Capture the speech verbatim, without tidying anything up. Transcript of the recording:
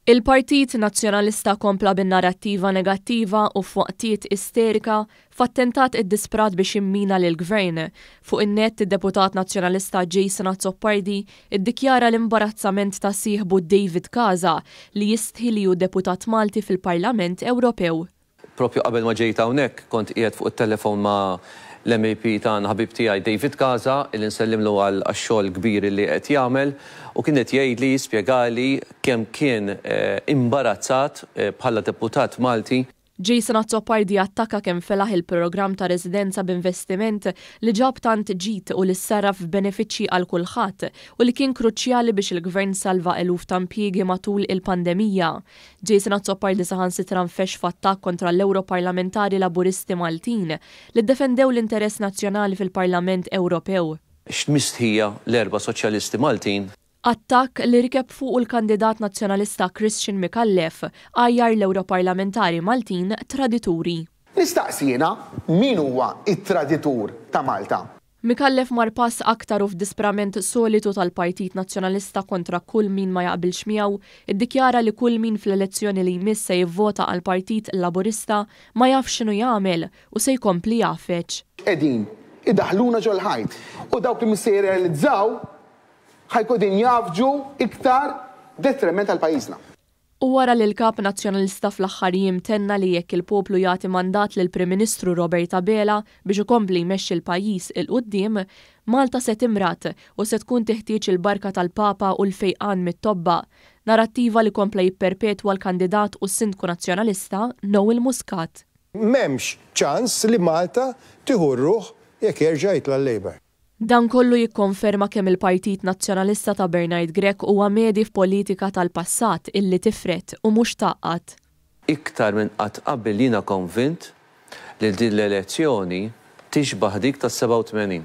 Il-Partit Nazzjonalista kompla bin-narrattiva negattiva u f'waqtiet isterika f'attentat iddisprat biex jimmina lill-Gvern. Fuq in-net, id-deputat Nazzjonalista Jason Azzopardi iddikjara l-imbarazzament ta' sieħbu David Casa li jistħi li hu deputat Malti fil-Parlament Ewropew. Propju qabel ma ġejt hawnhekk kont qiegħed fuq it-telefon ma' l-M E P tagħna, ħabib tiegħi David Casa, illi nsellimlu għal xogħol kbir li qed jagħmel, u kien qed jgħidli, jispjegali kemm kien eh, imbarazzat eh, bħala deputat Malti. Jason Azzopardi attakka kemm felaħ il-programm ta' residenza b'investiment li ġab tant ġid u li sarraf f'benefiċċji għal kulħadd u li kien kruċjali biex il-gvern salva eluf ta' impjiegi matul il-pandemija. Jason Azzopardi saħansitra nfexx f'attakk kontra l-Europarlamentari Laburisti Maltin li ddefendew l-interess nazzjonali fil-Parlament Ewropew. X'mistħija l-erba' soċjalisti Maltin. Attakk li rikeb fuq il-kandidat nazzjonalista Christian Micallef għajjar l-Europarlamentari Maltin tradituri. Nistaqsi jiena, min huwa it-traditur ta' Malta? Micallef mar pass aktar u f'disprament solitu tal-Partit Nazzjonalista kontra kull min ma jaqbilx miegħu, iddikjara li kull min fl-elezzjoni li jmiss se jivvota għal Partit Laburista ma jafx x'inhu jagħmel u se jkompli jgħaffeġ. Qegħdin idaħluna ġol-ħajt u dawk li mhux se jirrealizzaw ħa jkunu qegħdin jgħaffġu iktar detriment għal pajjiżna. U wara li l-kap nazzjonalista fl-aħħar jiem tenna li jekk il-poplu jagħti mandat lil Prim Ministru Robert Abela biex ikompli jmexxi l-pajjiż 'il quddiem, Malta se timrad u se tkun teħtieġ il-barka tal-Papa u l-fejqan mit-tobba. Narrattiva li kompla jipperpetwa l-kandidat u s-sindku nazzjonalista Noel Muscat. M'hemmx ċans li Malta tieħu ruħ jekk jerġa' jitla' l-Labour. Dan kollu jikkonferma kemm il-Partit Nazzjonalista ta' Bernard Grech huwa medhi f'politika tal-passat illi tifred u mhux tgħaqqad. Iktar minn qatt qabel jiena konvint li din l-elezzjoni tixbaħ dik tas-sebgħa u tmenin.